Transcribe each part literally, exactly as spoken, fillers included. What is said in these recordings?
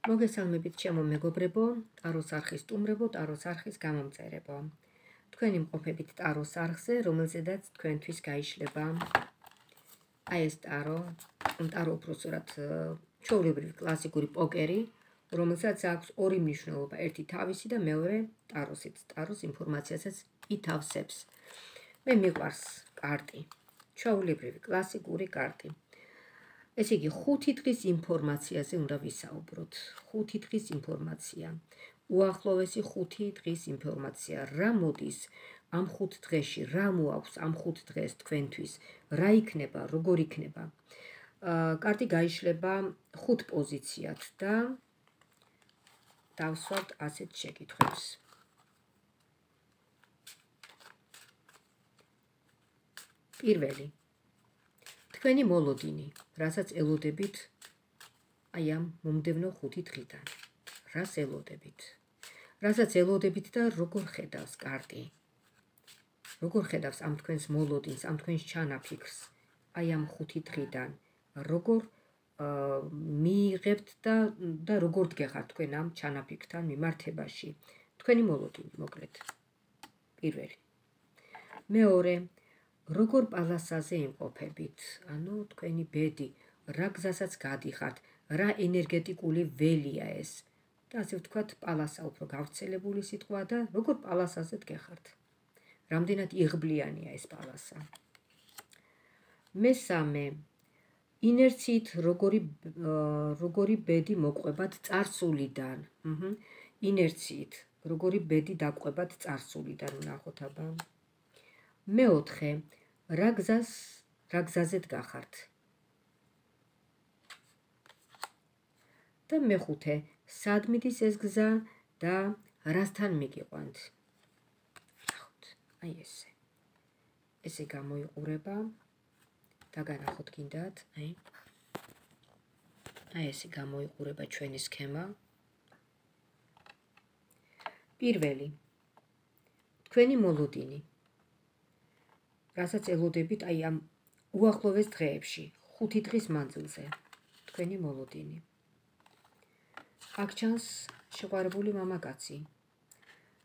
მოგესალმებით ჩემო მეგობრებო, ტაროს არხის სტუმრებო, ტაროს არხის გამომწერებო. თქვენი მყოფებით ტაროს არხზე, რომელზედაც თქვენთვის გაიშლება აი ეს ტარო, ტარო უბრალოდ ჩვეულებრივი კლასიკური პოკერი, რომელსაც აქვს ორი მნიშვნელობა, ერთი თავისი და მეორე ტაროსიც, ტაროს ინფორმაციასაც ითავსებს. მე მიყვარს კარტი, ჩვეულებრივი კლასიკური კარტი. ესე იგი, ხუთი დღის ინფორმაციაზე უნდა ვისაუბროთ. ხუთი დღის ინფორმაცია. უახლოვესი ხუთი დღის ინფორმაცია. რა მოდის ამ ხუთ დღეში, რა მოაქვს ამ ხუთ დღეს თქვენთვის, რა იქნება, როგორ იქნება. კარტი გაიშლება ხუთ პოზიციად და დავსვათ ასეთ შეკითხვებს. პირველი. თქვენი მოლოდინი, რასაც ელოდებით აი ამ მომდევნო ხუთი დღიდან. რას ელოდებით? რასაც ელოდებით და როგორ ხედავს კარტი? როგორ ხედავს ამ თქვენს მოლოდინს, ამ თქვენს ჩანაფიქრს აი ამ ხუთი დღიდან? როგორ მიიღებთ და და როგორ დგეხართ თქვენ ამ ჩანაფიქრთან მიმართებაში? თქვენი მოლოდინი, მოკლედ. პირველი. მეორე. როგორ პალასაზე იმყოფებით, ანუ თქვენი ბედი, რა გზასაც გადიხართ, რა ენერგეტიკული ველია ეს და ასე ვთქვათ, პალასა უფრო გავრცელებული სიტყვა და როგორ პალასაზე დგეხართ. რამდენად იღბლიანია ეს პალასა. მესამე, ინერციით როგორი როგორი ბედი მოყვებათ წარსულიდან. ინერციით როგორი ბედი დაყვებათ წარსულიდან, ვნახოთ აბა. მეოთხე, რა გზას, რა გზაზე დგახართ. და მეხუთე, სად მიდის ეს გზა და რასთან მიგიყვანთ. ნახოთ, აი ესე. ესე გამოიყურება. დაგანახოთ გინდათ, აი. აი ესე გამოიყურება ჩვენი სქემა. პირველი. თქვენი მოლოდინი. რასაც ელოდებით აი ამ უახლოვეს დღეებში, ხუთი დღის მანძილზე, თქვენი მოლოდინი. აქ ჩანს შეყვარებული მამაკაცი.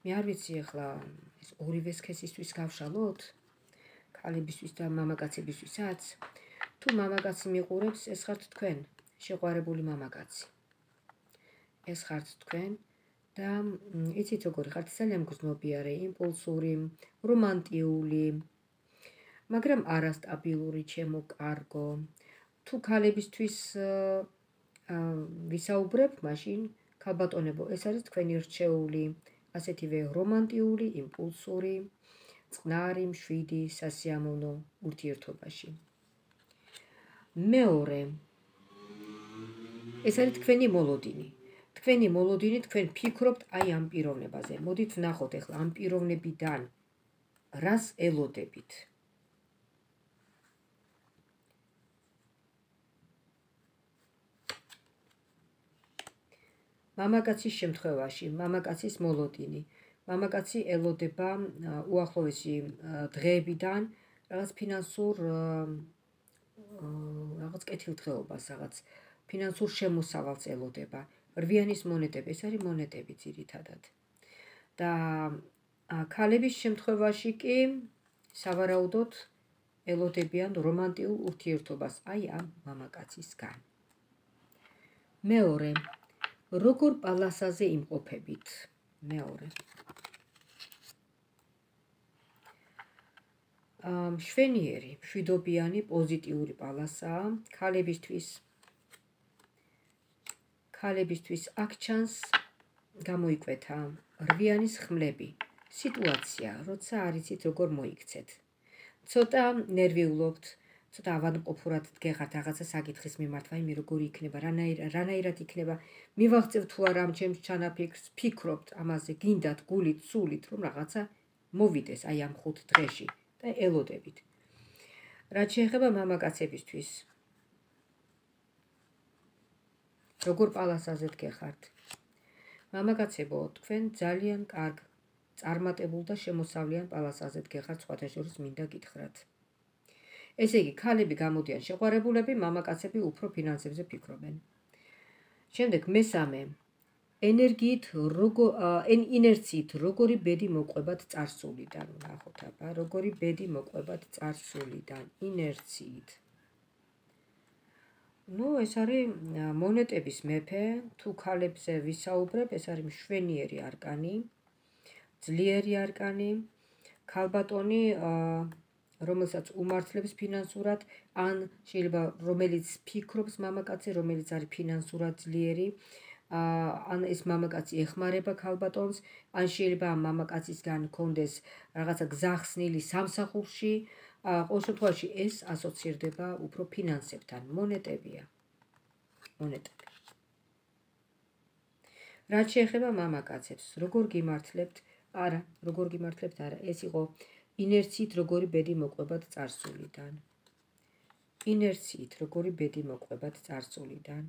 მე არ ვიცი ახლა ეს ორივე სქესისთვის გავშალოთ, ქალებისთვის და მამაკაცებისთვისაც. თუ მამაკაცი მიყურებს, ეს ხართ თქვენ, შეყვარებული მამაკაცი. ეს ხართ თქვენ და იცით როგორი ხართ, ძალიან მგრძნობიარე, იმპულსური, რომანტიული. მაგრამ არასტაბილური, ჩემო კარგო. თუ ქალებისთვის ვისაუბრებ, მაშინ ქალბატონებო, ეს არის თქვენი რჩეული, ასეთივე რომანტიული, იმპულსური, წყნარი, მშვიდი, სასიამოვნო ურთიერთობაში. მეორე. ეს არის თქვენი მოლოდინი. თქვენი მოლოდინი, თქვენ ფიქრობთ აი ამ პიროვნებაზე. მოდით ვნახოთ ახლა ამ პიროვნებიდან რას ელოდებით. მამაკაცის შემთხვევაში, მამაკაცის მოლოდინი. მამაკაცი ელოდება უახლოესი დღეებიდან რაღაც ფინანსურ რაღაც კეთილდღეობას, რაღაც ფინანსურ შემოსავალს ელოდება. რვიანის მონეტები, ეს არის მონეტები ძირითადად. და ქალების შემთხვევაში კი სავარაუდოდ ელოდებიან რომანტიულ ურთიერთობას აი ამ მამაკაცისგან. მეორე. როგორ პალასაზე იმყოფებით. მეორე. მშვენიერი, მშვიდობიანი, პოზიტიური პალასაა ქალებისთვის. ქალებისთვის აქ ჩანს გამოიკვეთა რვიანის ხმლები. სიტუაცია, როცა არ იცით როგორ მოიქცეთ. ცოტა ნერვიულობთ, ცოტა ავადმყოფურად დგეხართ რაღაცა საკითხის მიმართ, ვაიმე როგორი იქნება, რანაირად იქნება, მივაღწევ თუ არა ამ ჩემს ჩანაფიქრს, ფიქრობთ ამაზე, გინდათ გულით, სულით, რომ რაღაცა მოვიდეს აი ამ ხუთ დღეში და ელოდებით. რაც შეეხება მამაკაცებისთვის. როგორ პალასაზე დგეხართ. მამაკაცებო, თქვენ ძალიან კარგ, წარმატებულ და შემოსავლიან პალასაზე დგეხართ, სხვათა შორის მინდა გითხრათ. ესე იგი, ქალები გამოდიან შეყვარებულები, მამაკაცები უფრო ფინანსებზე ფიქრობენ. შემდეგ მესამე ენერგიით როგორ ინერციით როგორი ბედი მოყვებათ წარსულიდან ნახოთ აბა როგორი ბედი მოყვებათ წარსულიდან ინერციით ну ეს არის მონეტების მეფე თუ ქალებზე ვისაუბრებ ეს არის მშვენიერი არკანი ძლიერი არკანი ქალბატონი რომელსაც უმართლებს ფინანსურად ან შეიძლება რომელიც ფიქრობს მამაკაცი რომელიც არის ფინანსურად ძლიერი ან ეს მამაკაცი ეხმარება ქალბატონს ან შეიძლება ამ მამაკაცისგან კონდეს რაღაცა გზახსნილი სამსახურში ყოველ შემთხვევაში ეს ასოცირდება უფრო ფინანსებთან მონეტებია მონეტები რაც შეეხება მამაკაცებს როგორ გიმართლებთ არა როგორ გიმართლებთ არა ეს იყო ინერციით როგორი ბედი მოყვებათ წარსულიდან ინერციით როგორი ბედი მოყვებათ წარსულიდან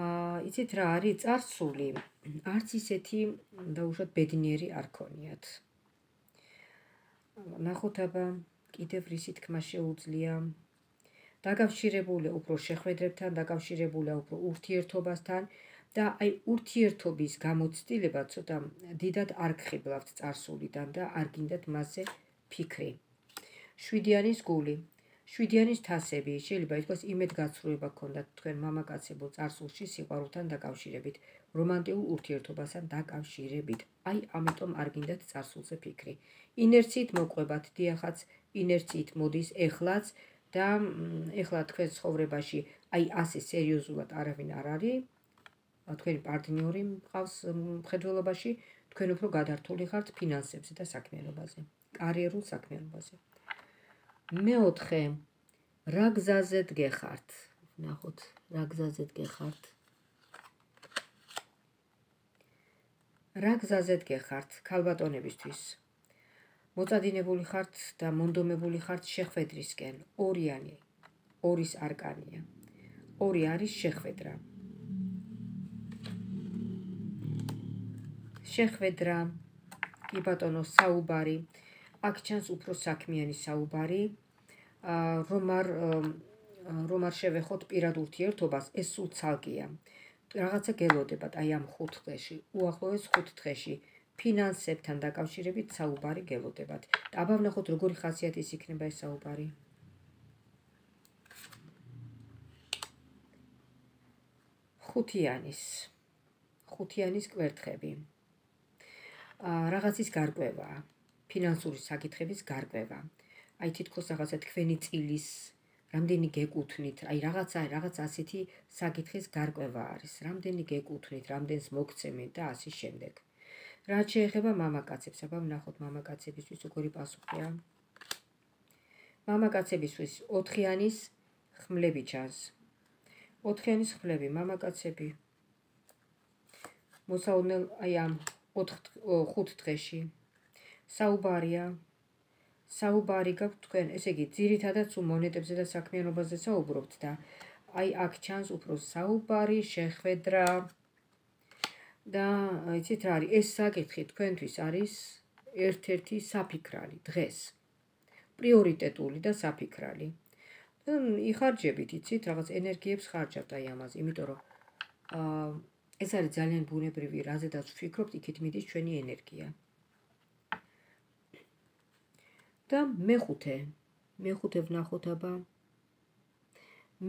აა იცით რა არის წარსული არც ისეთი დაუშვათ ბედნიერი არ ქონიათ ნახოთ აბა კიდევ რისი თქმა შეუძლია დაკავშირებულია უფრო შეხვედრებთან დაკავშირებულია უფრო ურთიერთობასთან და აი ურთიერთობის გამოცდილება ცოტა დიდად არ გხიბლავთ წარსულიდან და არ გინდათ მასზე ფიქრი შვიდიანის გული შვიდიანის თასები შეიძლება ითქვას იმედგაცრუება გქონდათ თქვენ მამაკაცებო წარსულში სიყვარულთან დაკავშირებით რომანტიკულ ურთიერთობასთან დაკავშირებით აი ამიტომ არ გინდათ წარსულზე ფიქრი ინერციით მოყვებათ დიახაც ინერციით მოდის ეხლაც და ეხლა თქვენ ცხოვრებაში აი ასე სერიოზულად არავინ არ არის თქვენი პარტნიორი მყავს მხედველობაში თქვენ უფრო გადართული ხართ ფინანსებზე და საქმიანობაზე კარიერულ საქმიანობაზე მეოთხე რა გზაზე დგეხართ ნახოთ რა გზაზე დგეხართ რა გზაზე დგეხართ ქალბატონებისთვის მოწადინებული ხართ და მონდომებული ხართ შეხვედრისკენ ორიანი ორის არკანია ორი არის შეხვედრა შეხვედრა კი ბატონო საუბარი აქ ჩანს უფრო საქმიანი საუბარი რომ არ რომ არ შევეხოთ პირად ურთიერთობას ეს სულ ცალკეა რაღაცა გელოდებათ აი ამ ხუთ დღეში უახლოეს ხუთ დღეში ფინანსებთან დაკავშირებით საუბარი გელოდებათ და აბა ვნახოთ როგორი ხასიათის იქნება ეს საუბარი ხუთიანის ხუთიანის კვერთხები რაღაცის გარკვევა ფინანსური საკითხების გარკვევა აი თითქოს რაღაცა თქვენი წილის რამდენი გეკუთვნით აი რაღაცა რაღაც ასეთი საკითხის გარკვევა არის რამდენი გეკუთვნით რამდენს მოგცემით და ასე შემდეგ რაც შეეხება მამაკაცებს აბა ვნახოთ მამაკაცებისთვის როგორი პასუხია მამაკაცებისთვის ოთხიანის ხმლები ჩანს ოთხიანის ხმლები მამაკაცები მოსაუბრელ აი ამ ხუთ დღეში საუბარია საუბარი გაქვთ თქვენ ესე იგი ძირითადად სულ მონეტებზე და საქმიანობაზე საუბრობთ და აი აქ ჩანს უფრო საუბარი შეხვედრა და იცით რა არის ეს საკითხი თქვენთვის არის ერთ-ერთი საფიქრალი დღეს პრიორიტეტული და საფიქრალი იხარჯებით იცით რაღაც ენერგიებს ხარჯავთ აი ამაზე იმიტომ რომ ეს არის ძალიან ბუნებრივი რაზედაც ვფიქრობთ იქით მიდის ჩვენი ენერგია და მეხუთე მეხუთე ვნახოთ აბა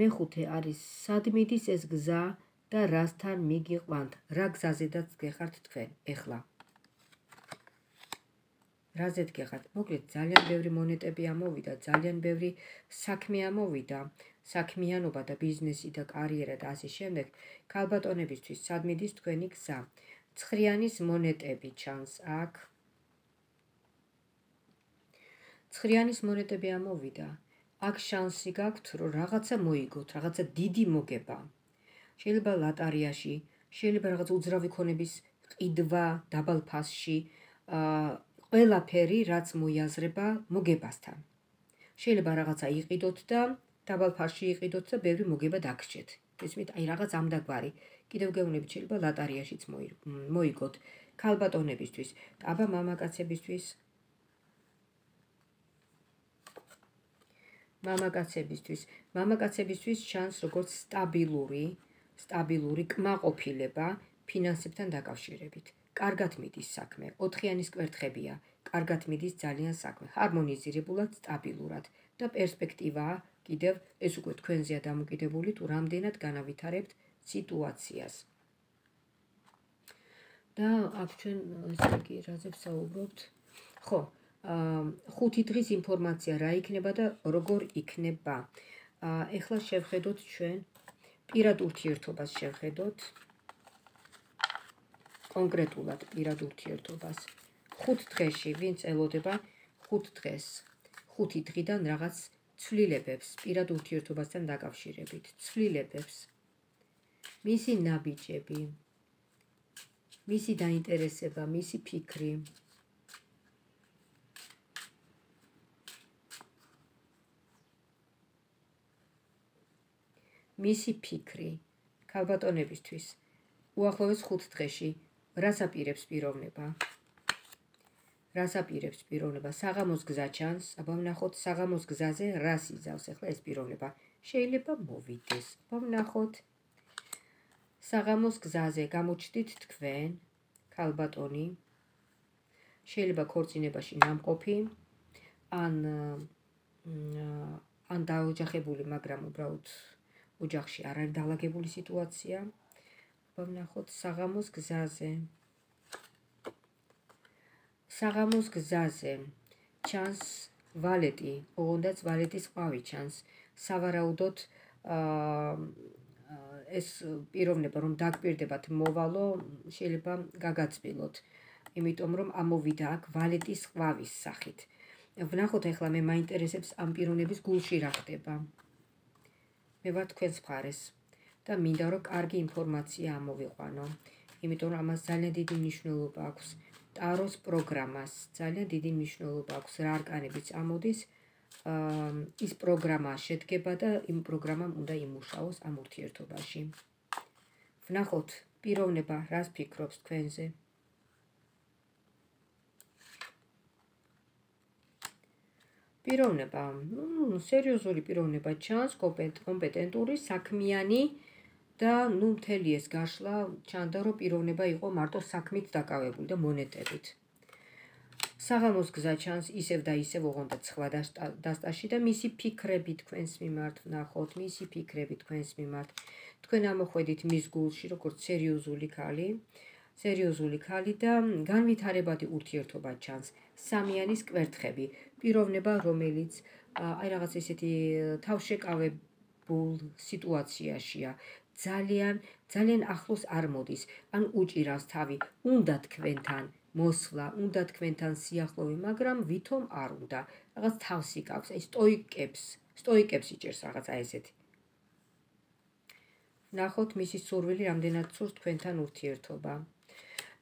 მეხუთე არის სად მიდის ეს გზა და რასთან მიგიყვანთ რა გზაზედაც გეხართ თქვენ ეხლა რაზე დგეხართ მოკლედ ძალიან ბევრი მონეტები ამოვიდა ძალიან ბევრი საქმე ამოვიდა საქმიანობა და ბიზნესი და კარიერა და ასე შემდეგ ქალბატონებისთვის სად მიდის თქვენი გზა ცხრიანის მონეტები ჩანს აქ ცხრიანის მონეტები ამოვიდა აქ შანსი გაქვთ რომ რაღაცა მოიგოთ რაღაცა დიდი მოგება შეიძლება ლატარიაში შეიძლება რაღაც უძრავი ქონების ყიდვა დაბალ ფასში ყველაფერი რაც მოიაზრება მოგებასთან შეიძლება რაღაცა იყიდოთ და დაბალ ფასში იყიდოთ და ბევრი მოგება დაგრჩეთ ესმით აი რაღაც ამდაგვარი კიდევ გეუბნებით შეიძლება ლატარიაშიც მოიგოთ ქალბატონებისთვის აბა მამაკაცებისთვის მამაკაცებისთვის, მამაკაცებისთვის ჩანს როგორც სტაბილური, სტაბილური კმაყოფილება ფინანსებთან დაკავშირებით. კარგად მიდის საქმე, ოთხიანის კვერთხებია, კარგად მიდის ძალიან საქმე, ჰარმონიზირებულად, სტაბილურად და პერსპექტივაა კიდევ ეს უკვე თქვენზეა დამოკიდებული თუ რამდენად განავითარებთ სიტუაციას. და აქ ჩვენ ესე იგი რაზე ვსაუბრობთ? ხო, ხუთი დღის ინფორმაცია რა იქნება და როგორ იქნება. ეხლა შევხედოთ ჩვენ პირად ურთიერთობას შევხედოთ. კონკრეტულად პირად ურთიერთობას. ხუთ დღეში ვინც ელოდება ხუთ დღეს, ხუთი დღიდან რაღაც ცვლილებებს პირად ურთიერთობასთან დაკავშირებით, ცვლილებებს. მისი ნაბიჯები, მისი დაინტერესება, მისი ფიქრი. მისი ფიქრი ქალბატონებისთვის უახლოეს ხუთ დღეში რას აპირებს პიროვნება? რას აპირებს პიროვნება? საღამოს გზა ჩანს, აბა ვნახოთ საღამოს გზაზე რას იზავს ახლა ეს პიროვნება. შეიძლება მოვიდეს. აბა ვნახოთ. საღამოს გზაზე გამოჩდით თქვენ, ქალბატონი. შეიძლება ქორწინებაში ნამყოფი, ან ან დაოჯახებული, მაგრამ უბრალოდ ოჯახში არ არის დალაგებული სიტუაცია. აბა ვნახოთ საღამოს გზაზე. საღამოს გზაზე ჩანს ვალეტი, ოღონდაც ვალეტის ყვავი ჩანს. სავარაუდოდ ეს პიროვნება რომ დაგპირდებათ მოვალო, შეიძლება გაგაწბილოთ, იმიტომ რომ ამოვიდა აქ ვალეტის ყვავის სახით. ვნახოთ ახლა მე მაინტერესებს ამ პიროვნების გულში რა ხდება. მე ვარ თქვენს მხარეს და მინდა რომ კარგი ინფორმაცია ამოვიყვანო, იმიტომ რომ ამას ძალიან დიდი მნიშვნელობა აქვს. ტაროს პროგრამას ძალიან დიდი მნიშვნელობა აქვს, რა არკანებიც ამოდის, ის პროგრამა შედგება და იმ პროგრამამ უნდა იმუშაოს ამ ურთიერთობაში. ვნახოთ პიროვნება რას ფიქრობს თქვენზე. პიროვნება, ნუ სერიოზული პიროვნება ჩანს, კომპეტენტური, საქმიანი და ნუ მთელი ეს გაშლა ჩანდა რომ პიროვნება იყო მარტო საქმით დაკავებული და მონეტებით. საღამოს გზა ჩანს ისევ და ისევ ოღონდაც სხვა დასტაში და მისი ფიქრები თქვენს მიმართ ვნახოთ, მისი ფიქრები თქვენს მიმართ. თქვენ ამოხვედით მის გულში როგორც სერიოზული ქალი, სერიოზული ქალი და განვითარებადი ურთიერთობა ჩანს. სამიანის კვერთხები, პიროვნება რომელიც აი რაღაც ესეთი თავშეკავებულ სიტუაციაშია. ძალიან, ძალიან ახლოს არ მოდის, ან უჭირავს თავი, უნდა თქვენთან მოსვლა, უნდა თქვენთან სიახლოვე, მაგრამ ვითომ არ უნდა. რაღაც თავს იკავს, აი სტოიკებს, სტოიკებს იჭერს რაღაცა ესეთი. ვნახოთ მისი სურვილი რამდენად სურს თქვენთან ურთიერთობა.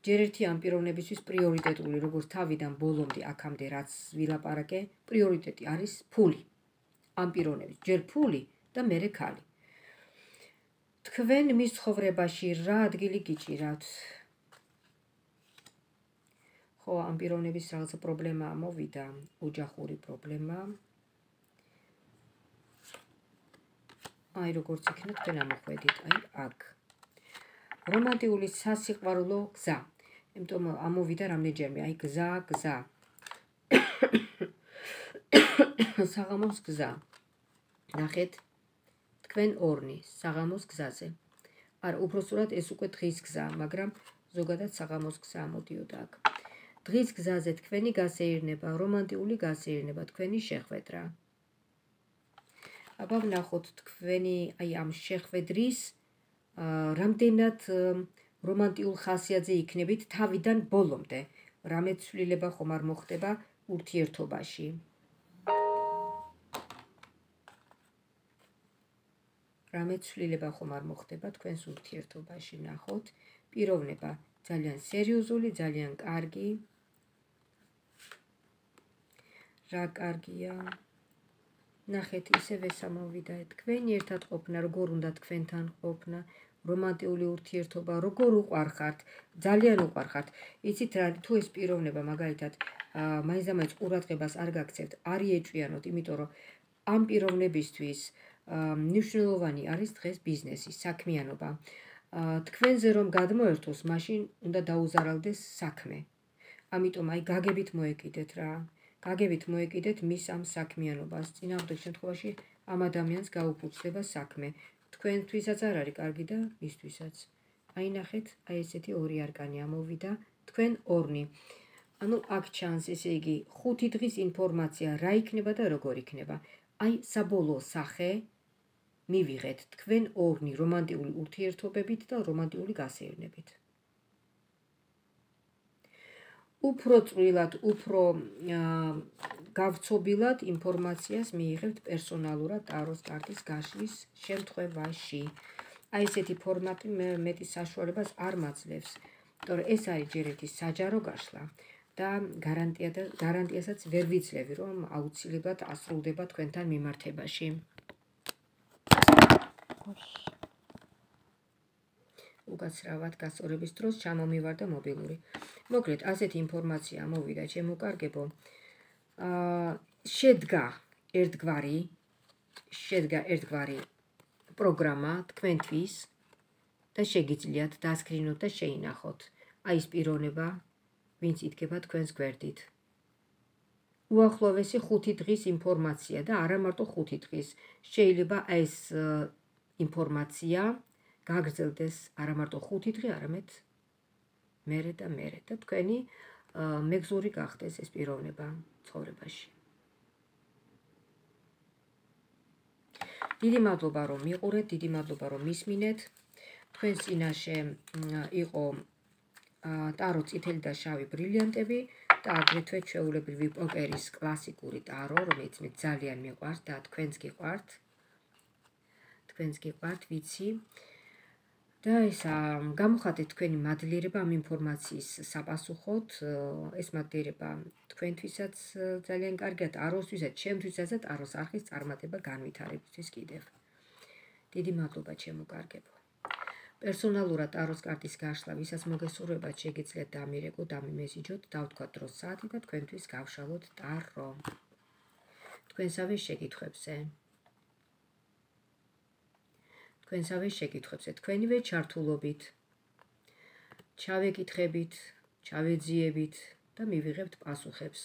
ჯერ ერთი ამ პიროვნებისთვის პრიორიტეტული, როგორც თავიდან ბოლომდე აქამდე რაც ვილაპარაკე, პრიორიტეტი არის ფული. ამ პიროვნების ჯერ ფული და მერე ქალი. თქვენ მის ცხოვრებაში რა ადგილი გიჭირავთ? ხო, ამ პიროვნების რაღაცა პრობლემა მოვიდა, ოჯახური პრობლემა. აი როგორც იქნება თქვენ ამოხვედით, აი აქ. რომანტიკული სასიყვარულო გზა. იმიტომ ამოვიდა რამდენჯერმე, აი გზა, გზა. საღამოს გზა. ნახეთ თქვენ ორნი საღამოს გზაზე. არა, უბრალოდ ეს უკვე დღის გზა, მაგრამ ზოგადად საღამოს გზა ამოდიოდა აქ. დღის გზაზე თქვენი გასეირნება, რომანტიკული გასეირნება, თქვენი შეხვედრა. აბა ვნახოთ თქვენი აი ამ შეხვედრის რამდენად რომანტიკულ ხასიათზე იქნებით თავიდან ბოლომდე. რამე ცვლილება ხომ არ მოხდება ურთიერთობაში. რამე ცვლილება ხომ არ მოხდება თქვენს ურთიერთობაში. ვნახოთ პიროვნება ძალიან სერიოზული, ძალიან კარგი. რა კარგია. ნახეთ ისევ ეს ამოვიდა თქვენი ერთად ყოფნა, როგორ უნდა თქვენთან ყოფნა, რომანტიკული ურთიერთობა, როგორ უყვარხართ, ძალიან უყვარხართ. იცით რა, თუ ეს პიროვნება მაგალითად მაინც-მაინც ყურადღებას არ გაქცევთ, არ იეჭვიანოთ, იმიტომ რომ ამ პიროვნებისთვის მნიშვნელოვანი არის დღეს ბიზნესი, საქმიანობა. თქვენზე რომ გადმოერთოს, მაშინ უნდა დაუზარალდეს საქმე. ამიტომ აი გაგებით მოეკიდეთ რა. გაგებით მოეკიდეთ მის ამ საქმიანობას. წინააღმდეგ შემთხვევაში ამ ადამიანს გაუფუძდება საქმე. თქვენთვისაც არ არის კარგი და მისთვისაც. აი ნახეთ, აი ესეთი ორი არკანი ამოვიდა, თქვენ ორნი. ანუ აქ ჩანს, ესე იგი, ხუთი დღის ინფორმაცია რა იქნება და როგორ იქნება. აი საბოლოო სახე მივიღეთ თქვენ ორნი რომანტიკული ურთიერთობებით და რომანტიკული გასეირნებით. უფრო წვრილად, უფრო გავცობილად ინფორმაციას მიიღებთ პერსონალურად ტაროს კარტის გაშლის შემთხვევაში. აი ესეთი ფორმატი მეტი საშუალებას არ მაძლევს, იმიტომ რომ ეს არის ჯერ ერთი საჯარო გაშლა და გარანტია და გარანტიასაც ვერ ვიძლევი, რომ აუცილებლად ასრულდება თქვენთან მიმართებაში. უკაცრავად გასწორების დროს ჩამომივარდა მობილური. მოკლედ, ასეთი ინფორმაცია ამოვიდა, ჩემო კარგებო. შედგა ერთგვარი, შედგა ერთგვარი პროგრამა თქვენთვის და შეგიძლიათ დასკრინოთ და შეინახოთ. აი ეს პიროვნება, ვინც იდგება თქვენს გვერდით. უახლოვესი ხუთი დღის ინფორმაცია და არა მარტო ხუთი დღის. შეიძლება ეს ინფორმაცია გაგრძელდეს არა მარტო ხუთი დღე, არამედ მერე და მერე და თქვენი მეგზური გახდეს ეს პიროვნება ცხოვრებაში. დიდი მადლობა რომ მიყურეთ, დიდი მადლობა რომ მისმინეთ. თქვენს წინაშე იყო ტარო წითელი და შავი ბრილიანტები და აგრეთვე ჩვეულებრივი პოკერის კლასიკური ტარო, რომელიც მე ძალიან მიყვარს და თქვენს გიყვართ. თქვენს გიყვართ, ვიცი. და ეს გამოხატეთ თქვენი მადლიერება ამ ინფორმაციის საპასუხოდ. ეს მადლიერება თქვენთვისაც ძალიან კარგია, ტაროსთვისაც, ჩემთვისაც და ტაროს არხის წარმატება განვითარებისთვის კიდევ. დიდი მადლობა ჩემო კარგებო. პერსონალურად ტაროს კარტის გაშლა, ვისაც მოგესურვებათ, შეგიძლიათ დამირეკოთ, დამიმესიჯოთ, დავთქვათ დროს საათი და თქვენთვის გავშალოთ ტარო. თქვენსავე შეკითხვებზე. თქვენსავე შეკითხვებზე, თქვენივე ჩართულობით, ჩავეკითხებით, ჩავეძიებით და მივიღებთ პასუხებს.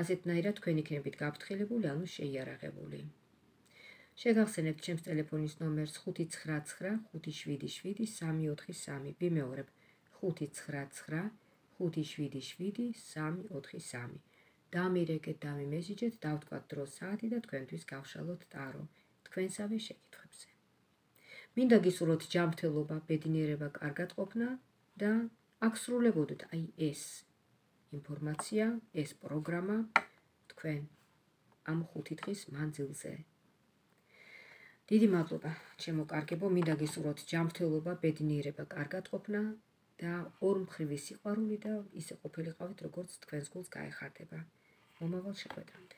ასეთნაირად თქვენ იქნებით გაფრთხილებული, ანუ შეიარაღებული. შეგახსენებთ ჩემს ტელეფონის ნომერს ხუთი ცხრა ცხრა ხუთი შვიდი შვიდი სამი ოთხი სამი. ვიმეორებ ხუთი ცხრა ცხრა ხუთი შვიდი შვიდი სამი ოთხი სამი. დამირეკეთ, დამიმესიჯეთ, დავთქვათ დროს საათი და თქვენთვის გავშალოთ ტარო. თქვენსავე შეკითხვებზე. მინდა გისურვოთ ჯანმრთელობა, ბედნიერება, კარგად ყოფნა და აღსრულებოდეთ აი ეს ინფორმაცია, ეს პროგრამა თქვენ ამ ხუთი დღის მანძილზე. დიდი მადლობა, ჩემო კარგებო, მინდა გისურვოთ ჯანმრთელობა, ბედნიერება, კარგად ყოფნა და ორმხრივი სიყვარული და ისე ყოფილიყავით, როგორც თქვენს გულს გაეხარდება. მომავალ შეხვედრამდე.